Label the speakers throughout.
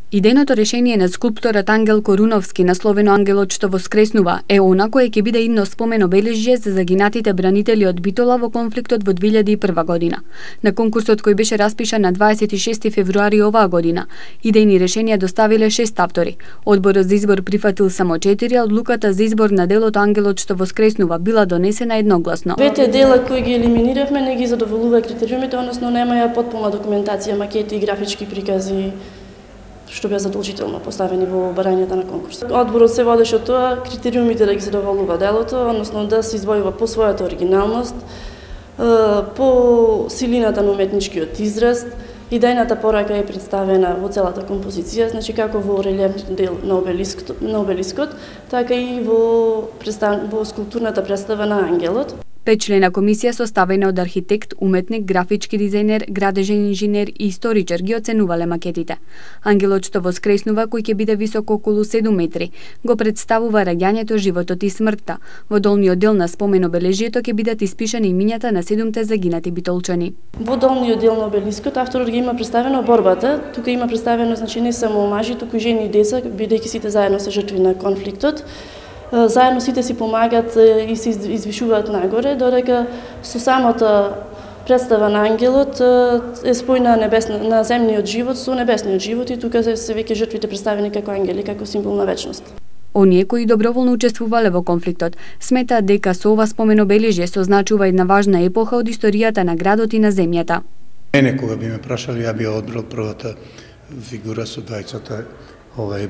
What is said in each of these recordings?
Speaker 1: Идејното решение на скулпторот Ангел Коруновски, насловено Ангелот што воскреснува, е она кое ќе биде идно спомен обележје за загинатите бранители од Битола во конфликтот во 2001 година. На конкурсот кој беше распишан на 26 февруари оваа година, идејни решенија доставиле 6 автори. Одборот за избор прифатил само 4, а одлуката за избор на делото Ангелот што воскреснува била донесена едногласно.
Speaker 2: Двете дела кои ги елиминиравме не ги задоволува критериумите, односно нема ја потполна документација, макети и графички прикази што беа задолжително поставени во барањата на конкурс. Одборот се водеше од тоа критериумите да ги задоволува делото, односно да се извојува по својата оригиналност, по силината на уметничкиот израз. Идејната порака е представена во целата композиција, значи како во релјефниот дел на обелискот, така и во скулптурната представа на Ангелот.
Speaker 1: 5-члена комисија составена од архитект, уметник, графички дизајнер, градежен инженер и историчар ги оценувале макетите. Ангелот што воскреснува, кој ќе биде висок околу 7 метри, го представува раѓањето, животот и смртта. Во долниот дел на спомен обележјето ќе бидат испишани имињата на 7 загинати битолчани.
Speaker 2: Во долниот дел на обелискот авторот ги има представено борбата. Тука има представено значи не само мажи, туку и жени и деца, бидејќи сите заедно се жртви на конфликтот. Заедно сите си помагат и се извишуваат нагоре, додека со самата представа на Ангелот е спојна на земниот живот со небесниот живот и тука се веќе жртвите представени како ангели, како символ на вечност.
Speaker 1: Оние кои доброволно учествувале во конфликтот сметаат дека со ова спомен обележје се означува една важна епоха од историјата на градот и на земјата.
Speaker 3: Мене кога би ме прашали, ја би одбрал првата фигура со двајцата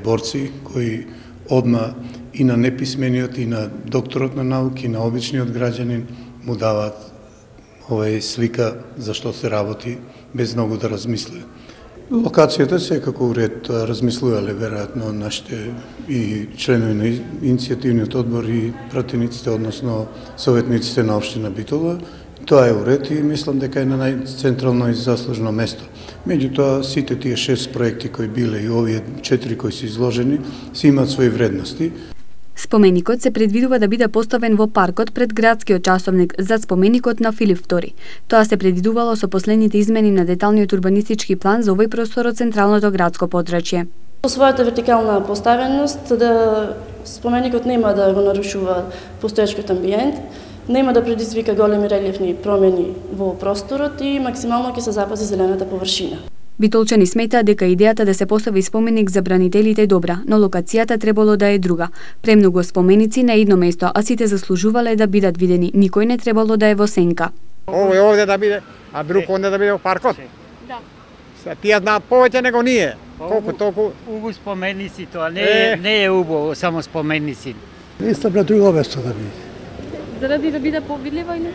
Speaker 3: борци кои одма и на неписмениот, и на докторот на науки, и на обичниот граѓанин му даваат слика за што се работи, без многу да размисле. Локацијата секако уред размислувале веројатно нашите и членови на иницијативниот одбор и пратениците, односно советниците на општина Битола. Тоа е уред и мислам дека е на најцентрално и заслужено место. Меѓутоа, сите тие 6 проекти кои биле и овие 4 кои се изложени, се имаат своји вредности.
Speaker 1: Споменикот се предвидува да биде поставен во паркот пред градскиот часовник за споменикот на Филип II. Тоа се предвидувало со последните измени на деталниот урбанистички план за овој простор од централното градско подрачје.
Speaker 2: По својата вертикална поставеност, споменикот нема да го нарушува постоечкиот амбиент, нема да предизвика големи релјефни промени во просторот и максимално ќе се запази зелената површина.
Speaker 1: Битолчани сметаат дека идејата да се постави споменик за бранителите е добра, но локацијата требало да е друга. Премногу споменици на едно место, а сите заслужувале да бидат видени. Никој не требало да е во сенка.
Speaker 4: Овој овде да биде, а друг онде да биде во паркот? Да. Тие знаат повеќе него ние. Колку толку
Speaker 5: убаво споменици тоа не е убаво само споменици.
Speaker 6: Мислам на друго место да биде.
Speaker 1: Заради да биде повидлива или?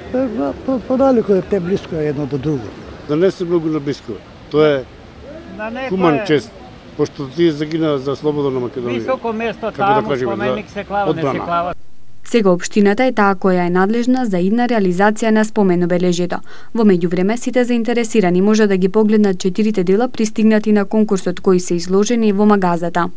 Speaker 6: Подалеку е блиско едно до друго.
Speaker 7: Да не се многу на блиско. Тоа е хуман чест, пошто тие загина за слобода на Македонија.
Speaker 5: Високо место таму, споменик се клава, не се клава.
Speaker 1: Сега општината е таа која е надлежна за идна реализација на спомен обележјето. Во меѓувреме сите заинтересирани може да ги погледнат 4 дела пристигнати на конкурсот кои се изложени во магазата.